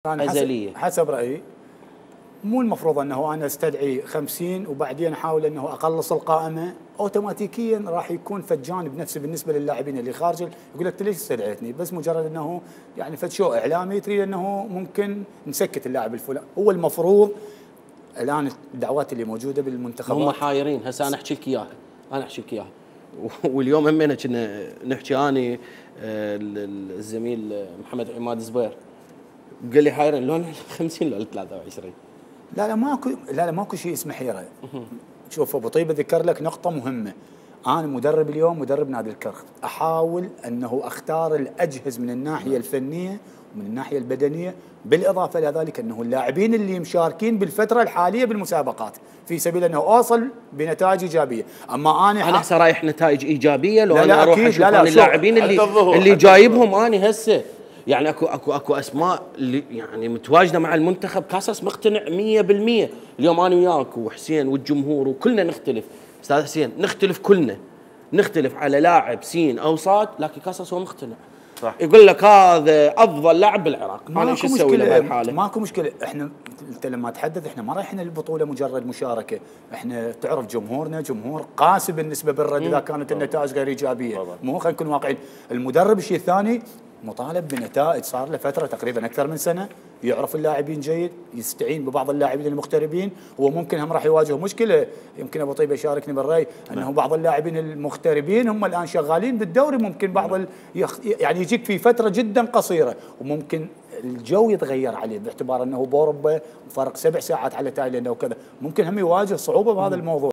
أنا أزلية. حسب رأيي مو المفروض أنه أنا استدعي 50 وبعدين أحاول أنه أقلص القائمة، أوتوماتيكيا راح يكون فد جانب نفسي بالنسبة للاعبين اللي خارج، يقول لك ليش استدعيتني؟ بس مجرد أنه يعني فد شو إعلامي تريد أنه ممكن نسكت اللاعب الفلاني. هو المفروض الآن الدعوات اللي موجودة بالمنتخبات هم حايرين. هسه أنا أحكي لك إياها، واليوم همينه كنا نحكي اني الزميل محمد عماد زبير قال لي حايرين لون 50 لون 23. لا ماكو شيء اسمه حيره. شوف ابو طيبه ذكر لك نقطه مهمه. انا مدرب اليوم، مدرب نادي الكرخ، احاول انه اختار الاجهز من الناحيه الفنيه ومن الناحيه البدنيه، بالاضافه الى ذلك انه اللاعبين اللي مشاركين بالفتره الحاليه بالمسابقات في سبيل انه اوصل بنتائج ايجابيه. اما انا هسه رايح نتائج ايجابيه لو لا انا اروح اشوف اللاعبين اللي جايبهم انا هسه. يعني اكو اسماء اللي يعني متواجده مع المنتخب كاساس مقتنع 100%. اليوم انا وياك وحسين والجمهور وكلنا نختلف، استاذ حسين نختلف كلنا، نختلف على لاعب سين او صاد، لكن كاساس هو مقتنع. صح. يقول لك هذا افضل لاعب بالعراق، انا ايش اسوي له بهالحاله؟ ماكو مشكله. احنا انت لما تحدث احنا ما رايحين البطوله مجرد مشاركه، احنا تعرف جمهورنا جمهور قاسي بالنسبه بالرد اذا كانت النتائج غير ايجابيه. مو خلينا نكون واقعيين. المدرب الشيء الثاني مطالب بنتائج، صار له فتره تقريبا اكثر من سنه يعرف اللاعبين جيد، يستعين ببعض اللاعبين المغتربين. هو ممكن هم راح يواجه مشكله، يمكن ابو طيبه يشاركني بالراي انه بعض اللاعبين المغتربين هم الان شغالين بالدوري، ممكن بعض يعني يجيك في فتره جدا قصيره وممكن الجو يتغير عليه باعتبار انه باوروبا فرق 7 ساعات على تايلاند او كذا، ممكن هم يواجه صعوبه بهذا الموضوع.